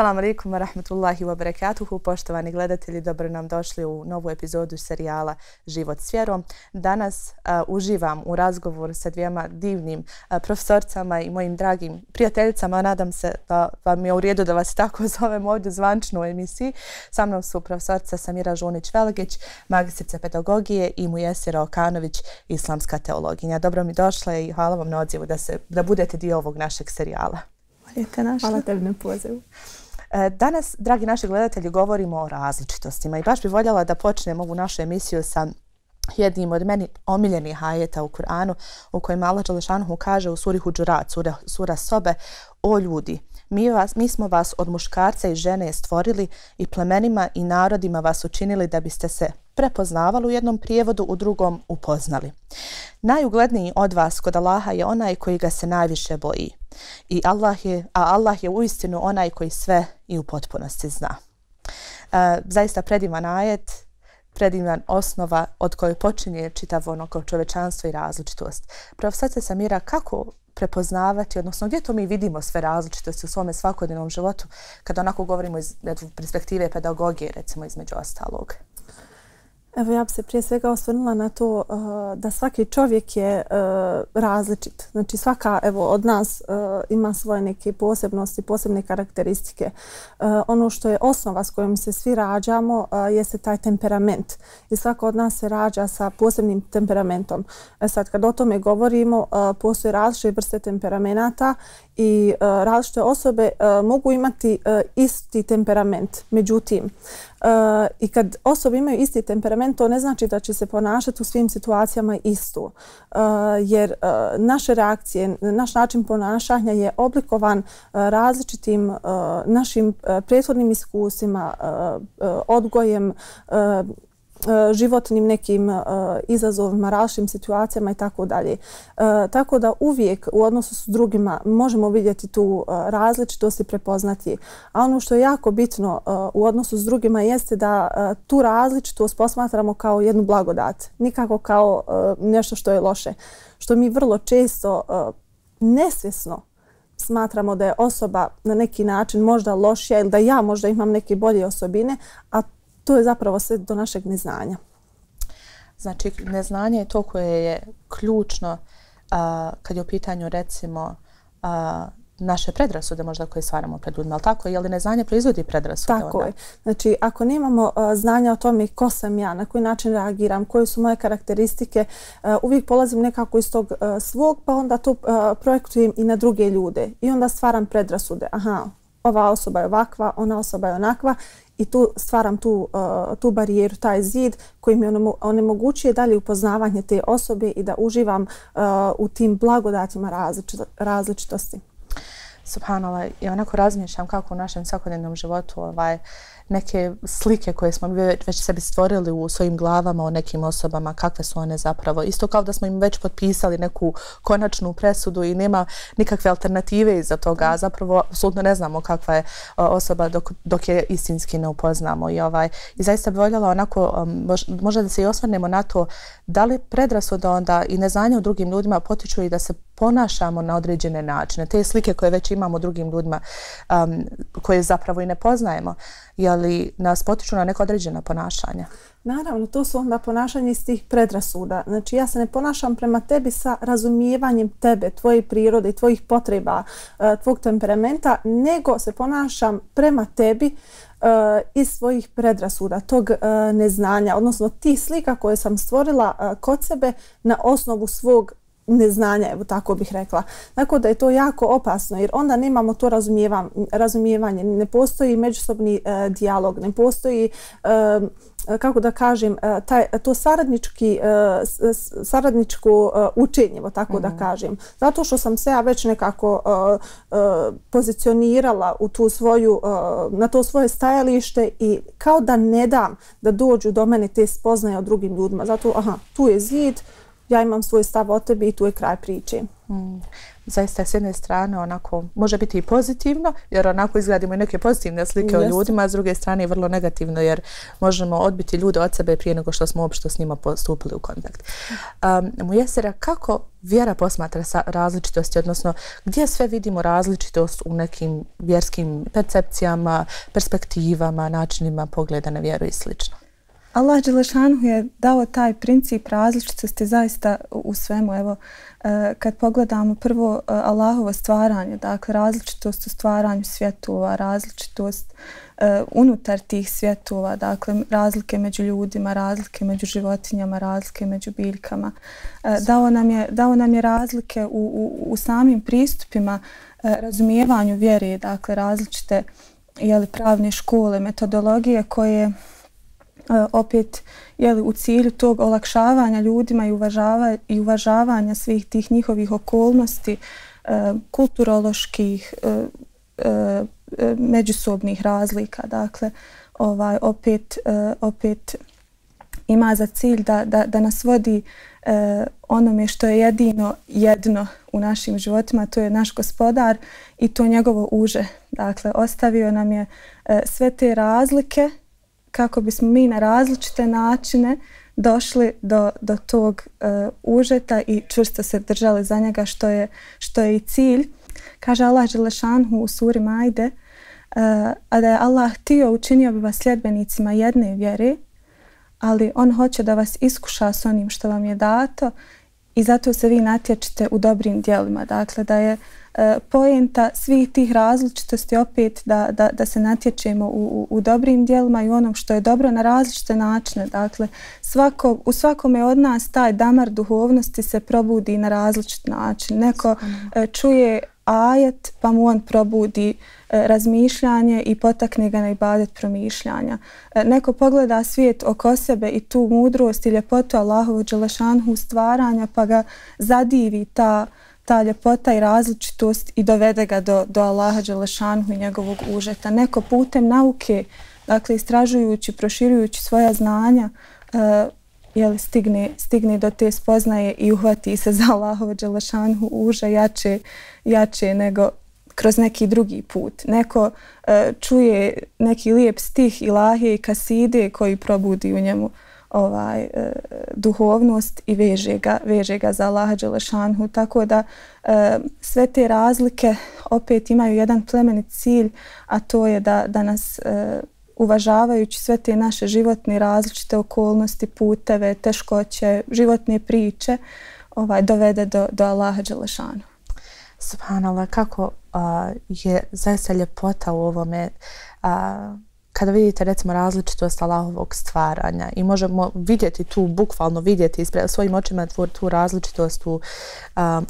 Assalamu alaikum wa rahmatullahi wa barakatuhu. Poštovani gledatelji, dobro nam došli u novu epizodu serijala Život s vjerom. Danas uživam u razgovoru sa dvijema divnim profesorcama i mojim dragim prijateljicama. Nadam se da vam je u redu da vas tako zovem ovdje zvančno u emisiji. Sa mnom su profesorica Samira Žunić-Velgić, magistrica pedagogije, i Mujesira Okanović, islamska teologinja. Dobro mi došle i hvala vam na odzivu da budete dio ovog našeg serijala. Hvala tebi na pozivu. Danas, dragi naši gledatelji, govorimo o različitostima i baš bih voljela da počnem ovu našu emisiju sa jednim od meni omiljenih ajeta u Kur'anu u kojem Allah dželle kaže u suri Hudžurat, sura Sobe: O ljudi, mi smo vas od muškarca i žene stvorili i plemenima i narodima vas učinili da biste se prepoznavali u jednom prijevodu, u drugom upoznali. Najugledniji od vas kod Allaha je onaj koji ga se najviše boji. Allah je uistinu onaj koji sve i u potpunosti zna. Zaista predivan ajet, predivan osnova od koje počinje čitavo ono kao čovečanstvo i različitost. Profesorice Samira, kako prepoznavati, odnosno gdje to mi vidimo sve različitosti u svome svakodnevnom životu kada onako govorimo iz perspektive pedagogije, recimo, između ostalog? Evo, ja bih se prije svega osvrnula na to da svaki čovjek je različit. Znači svaka od nas ima svoje neke posebnosti, posebne karakteristike. Ono što je osnova s kojom se svi rađamo jeste taj temperament. I svako od nas se rađa sa posebnim temperamentom. Sad kad o tome govorimo, postoje različite vrste temperamenata i različite osobe mogu imati isti temperament. Međutim, i kad osobe imaju isti temperament, to ne znači da će se ponašati u svim situacijama isto. Jer naše reakcije, naš način ponašanja je oblikovan različitim našim prethodnim iskustvima, odgojem, životnim nekim izazovima, različitim situacijama i tako dalje. Tako da uvijek u odnosu s drugima možemo vidjeti tu različitost i prepoznati. A ono što je jako bitno u odnosu s drugima jeste da tu različitost posmatramo kao jednu blagodat, nikako kao nešto što je loše. Što mi vrlo često nesvjesno smatramo da je osoba na neki način možda lošija ili da ja možda imam neke bolje osobine, a to je zapravo sve do našeg neznanja. Znači, neznanje je to koje je ključno kad je u pitanju, recimo, naše predrasude možda koje stvaramo pred ljudima, ali tako? Je li neznanje proizvodi predrasude? Tako je. Znači, ako nemamo znanja o tome ko sam ja, na koji način reagiram, koje su moje karakteristike, uvijek polazim nekako iz tog svog, pa onda to projektujem i na druge ljude. I onda stvaram predrasude. Aha, ova osoba je ovakva, ona osoba je onakva. I tu stvaram tu barijeru, taj zid koji mi onemogućuje dalje upoznavanje te osobe i da uživam u tim blagodatima različitosti. Subhanallah, i onako razmišljam kako u našem svakodnevnom životu neke slike koje smo već sebi stvorili u svojim glavama o nekim osobama, kakve su one zapravo. Isto kao da smo im već potpisali neku konačnu presudu i nema nikakve alternative iza toga, a zapravo apsolutno ne znamo kakva je osoba dok je istinski ne upoznamo. I zaista bi voljela onako, možda da se i osvrnemo na to da li predrasuda onda i neznanje u drugim ljudima potiču i da se ponašamo na određene načine. Te slike koje već imamo u drugim ljudima, koje zapravo i ne poznajemo, je li nas potiču na neka određena ponašanja? Naravno, to su onda ponašanje iz tih predrasuda. Znači, ja se ne ponašam prema tebi sa razumijevanjem tebe, tvoje prirode i tvojih potreba, tvog temperamenta, nego se ponašam prema tebi iz svojih predrasuda, tog neznanja, odnosno tih slika koje sam stvorila kod sebe na osnovu svog neznanja, evo tako bih rekla. Tako da je to jako opasno jer onda nemamo to razumijevanje, ne postoji međusobni dijalog, ne postoji, kako da kažem, to saradničko učenje, evo tako da kažem. Zato što sam se ja već nekako pozicionirala u na to svoje stajalište i kao da ne dam da dođu do mene te spoznaje o drugim ljudima. Zato, aha, tu je zid, ja imam svoj stav o tebi i tu je kraj priče. Zaista s jedne strane onako može biti i pozitivno, jer onako izgledimo i neke pozitivne slike o ljudima, a s druge strane i vrlo negativno, jer možemo odbiti ljude od sebe prije nego što smo uopšte s njima postupili u kontakt. Mujesera, kako vjera posmatra različitosti, odnosno gdje sve vidimo različitost u nekim vjerskim percepcijama, perspektivama, načinima pogleda na vjeru i slično? Allah Đelešanuhu je dao taj princip različitosti zaista u svemu. Evo, kad pogledamo prvo Allahovo stvaranje, dakle različitost u stvaranju svjetova, različitost unutar tih svjetova, dakle razlike među ljudima, razlike među životinjama, razlike među biljkama. Dao nam je razlike u samim pristupima razumijevanju vjere, dakle različite pravne škole, metodologije koje opet u cilju tog olakšavanja ljudima i uvažavanja svih tih njihovih okolnosti, kulturoloških, međusobnih razlika. Dakle, opet ima za cilj da nas vodi onome što je jedno u našim životima, to je naš Gospodar i to njegovo uže. Dakle, ostavio nam je sve te razlike kako bismo mi na različite načine došli do tog užeta i čvrsto se držali za njega, što je i cilj. Kaže Allah Đelešanuhu u suri Majde, a da je Allah htio, učinio bi vas sljedbenicima jedne vjere, ali on hoće da vas iskuša s onim što vam je dato i zato se vi natječete u dobrim djelima. Dakle, da je poenta svih tih različitosti opet da se natječemo u dobrim djelima i onom što je dobro na različite načine. Dakle, u svakome od nas taj damar duhovnosti se probudi na različit način. Neko čuje ajet pa mu on probudi razmišljanje i potakne ga na ibadet promišljanja. Neko pogleda svijet oko sebe i tu mudrost i ljepotu Allahovu Đelešanuhu stvaranja pa ga zadivi ta ljepota i različitost i dovede ga do Allaha Đelešanuhu i njegovog užeta. Neko putem nauke, dakle istražujući, proširujući svoja znanja, stigne do te spoznaje i uhvati se za Allahovo Đelešanuhu uže jače nego kroz neki drugi put. Neko čuje neki lijep stih ilahije i kaside koji probudi u njemu duhovnost i veže ga za Allaha Đelešanuhu. Tako da sve te razlike opet imaju jedan plemenit cilj, a to je da nas uvažavajući sve te naše životne različite okolnosti, puteve, teškoće, životne priče, dovede do Allaha Đelešanuhu. Subhanallah, kako je zaista ljepota u ovome kada vidite recimo različitost Allahovog stvaranja i možemo vidjeti tu, bukvalno vidjeti svojim očima tu različitost u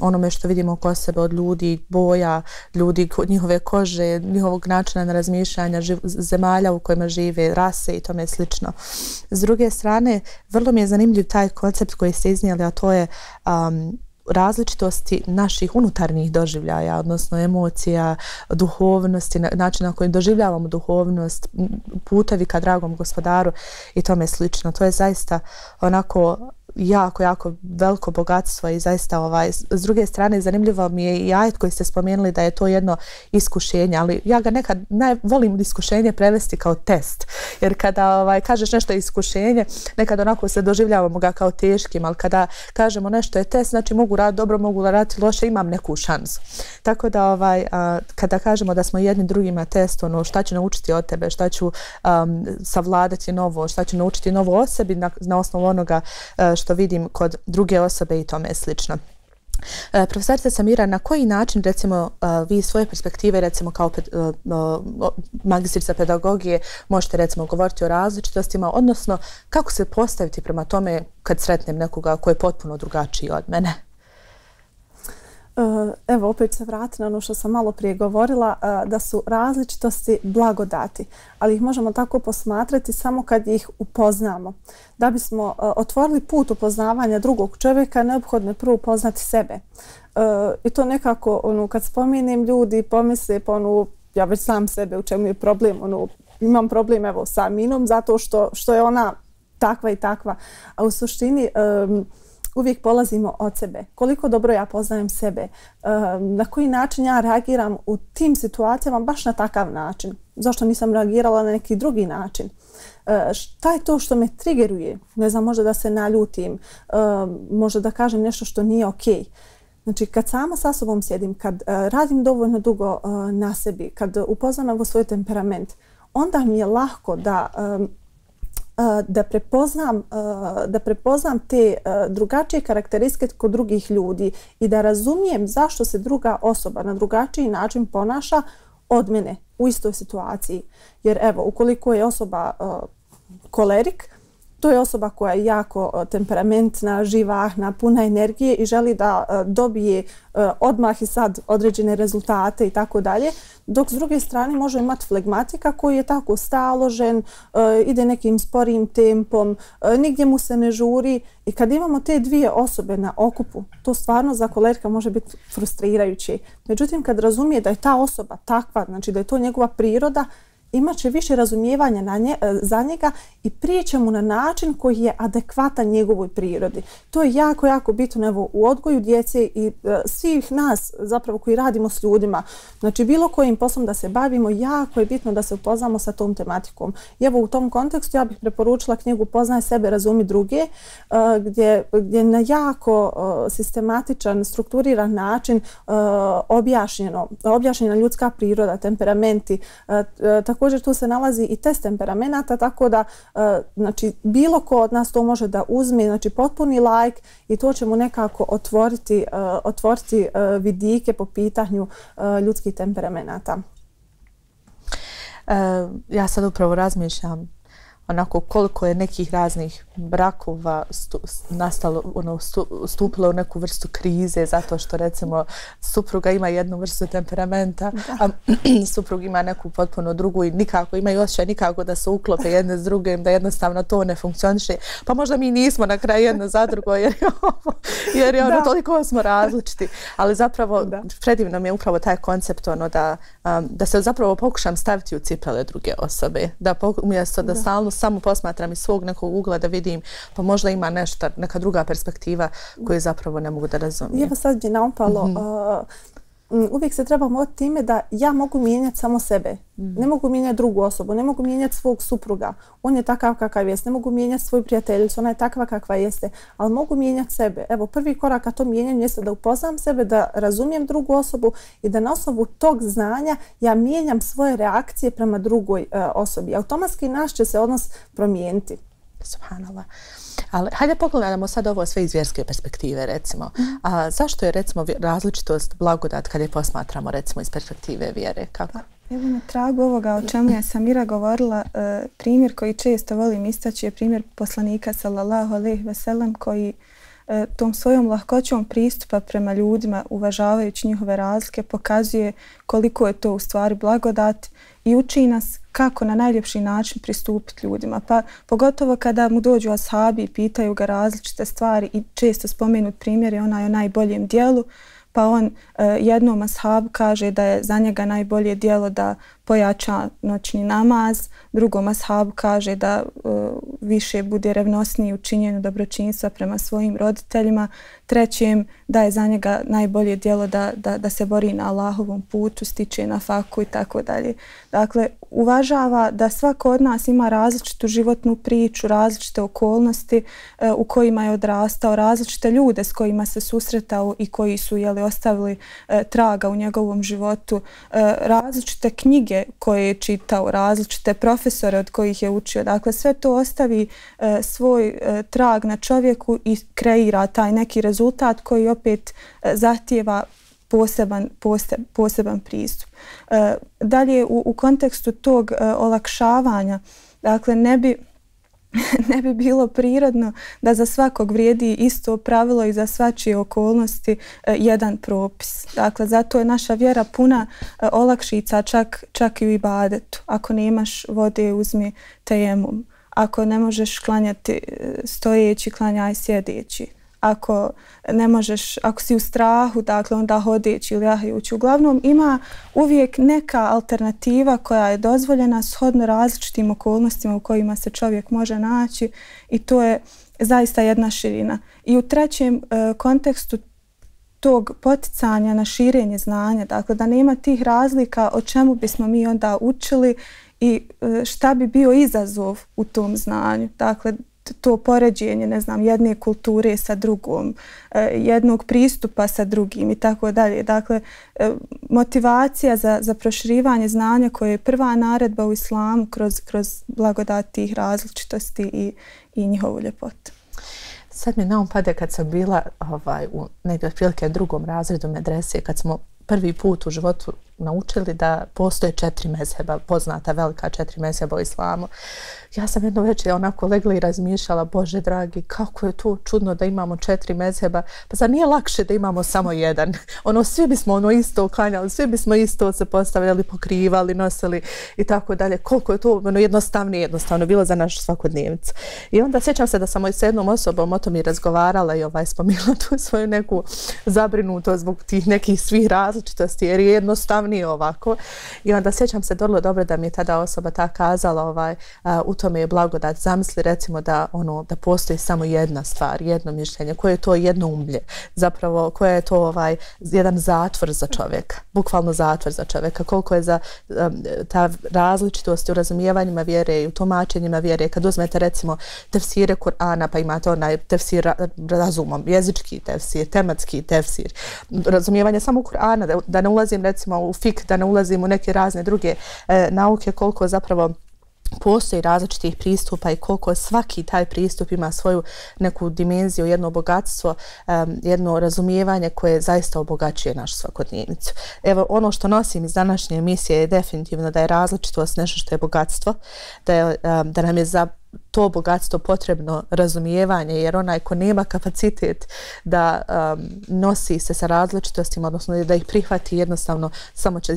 onome što vidimo oko sebe od ljudi, boja ljudi, njihove kože, njihovog načina na razmišljanja, zemalja u kojima žive, rase i tome slično. S druge strane, vrlo mi je zanimljiv taj koncept koji ste iznijeli, a to je različitosti naših unutarnjih doživljaja, odnosno emocija, duhovnosti, način na koji doživljavamo duhovnost, putevi ka dragom Gospodaru i tome slično. To je zaista onako jako veliko bogatstvo i zaista s druge strane zanimljivo mi je i ajet koji ste spomenuli da je to jedno iskušenje, ali ja ga nekad volim iskušenje prevesti kao test, jer kada kažeš nešto je iskušenje, nekad onako se doživljavamo ga kao teškim, ali kada kažemo nešto je test, znači mogu raditi dobro, mogu raditi loše, imam neku šansu. Tako da kada kažemo da smo jedni drugima test, šta ću naučiti od tebe, šta ću savladati novo, šta ću naučiti novo o sebi na osnovu onoga što vidim kod druge osobe i tome slično. Profesorica Samira, na koji način recimo vi iz svoje perspektive recimo kao magistrica pedagogije možete recimo govoriti o različitostima, odnosno kako se postaviti prema tome kad sretnem nekoga koji je potpuno drugačiji od mene? Evo, opet se vrati na ono što sam malo prije govorila, da su različitosti blagodati, ali ih možemo tako posmatrati samo kad ih upoznamo. Da bismo otvorili put upoznavanja drugog čovjeka, neophodno je prvo upoznati sebe. I to nekako, kad spomenem, ljudi pomisle, ja već sam sebe, u čemu je problem, imam problem sa Minom zato što je ona takva i takva. A u suštini uvijek polazimo od sebe. Koliko dobro ja poznajem sebe, na koji način ja reagiram u tim situacijama baš na takav način. Zašto nisam reagirala na neki drugi način? Šta je to što me triggeruje? Ne znam, možda da se naljutim, možda da kažem nešto što nije okej. Znači, kad sama sa sobom sjedim, kad radim dovoljno dugo na sebi, kad upoznam svoj temperament, onda mi je lahko da prepoznam te drugačije karakteristike kod drugih ljudi i da razumijem zašto se druga osoba na drugačiji način ponaša od mene u istoj situaciji. Jer evo, ukoliko je osoba kolerik, to je osoba koja je jako temperamentna, živahna, puna energije i želi da dobije odmah i sad određene rezultate i tako dalje. Dok s druge strane može imati flegmatika koji je tako staložen, ide nekim sporijim tempom, nigdje mu se ne žuri. I kad imamo te dvije osobe na okupu, to stvarno za kolerika može biti frustrirajuće. Međutim, kad razumije da je ta osoba takva, znači da je to njegova priroda, imat će više razumijevanja za njega i prijeće mu na način koji je adekvatan njegovoj prirodi. To je jako, jako bitno evo, u odgoju djece i svih nas zapravo koji radimo s ljudima. Znači bilo kojim poslom da se bavimo, jako je bitno da se upoznamo sa tom tematikom. I evo u tom kontekstu ja bih preporučila knjigu Poznaj sebe, razumi druge, gdje na jako sistematičan, strukturiran način objašnjena ljudska priroda, temperamenti. Također tu se nalazi i test temperamenata, tako da znači, bilo ko od nas to može da uzme, znači potpuni like i to će mu nekako otvoriti vidike po pitanju ljudskih temperamenata. Ja sad upravo razmišljam onako koliko je nekih raznih brakova nastalo, stupilo u neku vrstu krize zato što recimo supruga ima jednu vrstu temperamenta, a suprug ima neku potpuno drugu i nikako imaju osjećaj nikako da se uklope jedne s drugim, da jednostavno to ne funkcioniše. Pa možda mi nismo na kraju jedno za drugo jer je ono toliko smo različiti. Ali zapravo predivno mi je upravo taj koncept da se zapravo pokušam staviti u cipele druge osobe. Da umjesto da stalno samo posmatram iz svog nekog ugla da vidim pa možda ima nešto, neka druga perspektiva koju zapravo ne mogu da razumijem. Evo sad je naupalo, uvijek se trebamo od time da ja mogu mijenjati samo sebe. Ne mogu mijenjati drugu osobu, ne mogu mijenjati svog supruga. On je takav kakav jeste. Ne mogu mijenjati svoju prijateljicu, ona je takva kakva jeste. Ali mogu mijenjati sebe. Evo, prvi korak ka to mijenjanju jeste da upoznam sebe, da razumijem drugu osobu i da na osnovu tog znanja ja mijenjam svoje reakcije prema drugoj osobi. Automatski naš će se odnos promijeniti. Subhanallah. Ali hajde pogledamo sad ovo sve iz vjerske perspektive recimo. A zašto je recimo različitost blagodat kad je posmatramo recimo iz perspektive vjere? Kako? Evo na tragu ovoga o čemu je Samira govorila, primjer koji često volim istaći je primjer poslanika sallallahu alejhi ve sellem koji tom svojom lahkoćom pristupa prema ljudima, uvažavajući njihove razlike, pokazuje koliko je to u stvari blagodat i uči nas kako na najljepši način pristupiti ljudima. Pa pogotovo kada mu dođu ashabi i pitaju ga različite stvari i često spomenut primjer je onaj o najboljem dijelu, pa on jednom ashabu kaže da je za njega najbolje djelo da pojača noćni namaz, drugom ashabu kaže da više bude revnosniji u činjenju dobročinstva prema svojim roditeljima, trećem da je za njega najbolje djelo da se bori na Allahovom putu, stiče na faku i tako dalje. Dakle, uvažava da svako od nas ima različitu životnu priču, različite okolnosti u kojima je odrastao, različite ljude s kojima se susretao i koji su ostavili traga u njegovom životu, različite knjige koje je čitao, različite profesore od kojih je učio. Dakle, sve to ostavi svoj trag na čovjeku i kreira taj neki rezultat koji opet zahtijeva poseban pristup. Dalje, u kontekstu tog olakšavanja, dakle, ne bi bilo prirodno da za svakog vrijedi isto pravilo i za svačije okolnosti jedan propis. Dakle, zato je naša vjera puna olakšica čak i u ibadetu. Ako nemaš vode, uzmi tejemum. Ako ne možeš klanjati stojeći, klanjaj sjedeći. ako ne možeš, ako si u strahu, dakle onda hodeći ili jahajući. Uglavnom ima uvijek neka alternativa koja je dozvoljena shodno različitim okolnostima u kojima se čovjek može naći i to je zaista jedna širina. I u trećem kontekstu tog poticanja na širenje znanja, dakle da nema tih razlika o čemu bismo mi onda učili i šta bi bio izazov u tom znanju. Dakle, to poređenje, ne znam, jedne kulture sa drugom, jednog pristupa sa drugim i tako dalje. Dakle, motivacija za proširivanje znanja koje je prva naredba u islamu kroz blagodat tih različitosti i njihovu ljepotu. Sad mi na um pade kad sam bila u negdje otprilike drugom razredu medrese, kad smo prvi put u životu naučili da postoje 4 mezheba, poznata velika 4 mezheba u islamu. Ja sam jedno večer onako legla i razmišljala, Bože dragi, kako je to čudno da imamo 4 mezheba, pa zar nije lakše da imamo samo jedan? Svi bismo isto klanjali, svi bismo isto se postavljali, pokrivali, nosili i tako dalje. Koliko je to jednostavno bilo za našu svakodnevnicu. I onda sjećam se da sam s jednom osobom o tom i razgovarala i spominjala tu svoju neku zabrinutost zbog tih nekih svih različitosti, jer je jednostavnije ovako. I onda sjećam se vrlo dobro da mi je tada osoba ta kazala u tome je blagodat. Zamisli recimo da postoji samo jedna stvar, jedno mišljenje, koje je to jedno umlje, zapravo koje je to jedan zatvor za čovjeka, bukvalno zatvor za čovjeka, koliko je za ta različitost u razumijevanjima vjere i u tumačenjima vjere. Kad uzmete recimo tefsire Kur'ana, pa imate onaj tefsir razumom, jezički tefsir, tematski tefsir, razumijevanje samo Kur'ana, da ne ulazim recimo u fik, da ne ulazim u neke razne druge nauke, koliko zapravo postoji različitih pristupa i koliko svaki taj pristup ima svoju neku dimenziju, jedno bogatstvo, jedno razumijevanje koje zaista obogaćuje našu svakodnevnicu. Evo, ono što nosim iz današnje emisije je definitivno da je različitost nešto što je bogatstvo, da nam je za to bogatstvo potrebno razumijevanje, jer onaj ko nema kapacitet da nosi se sa različitostima, odnosno da ih prihvati, jednostavno samo će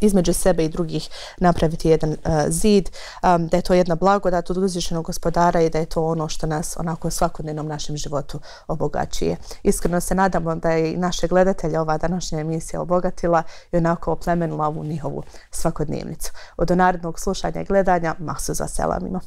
između sebe i drugih napraviti jedan zid, da je to jedna blagodat od uzvišenog gospodara i da je to ono što nas onako svakodnevnom našem životu obogaćuje. Iskreno se nadamo da je i naše gledatelje ova današnja emisija obogatila i onako oplemenila ovu njihovu svakodnevnicu. Od narednog slušanja i gledanja, mahsu za selamima.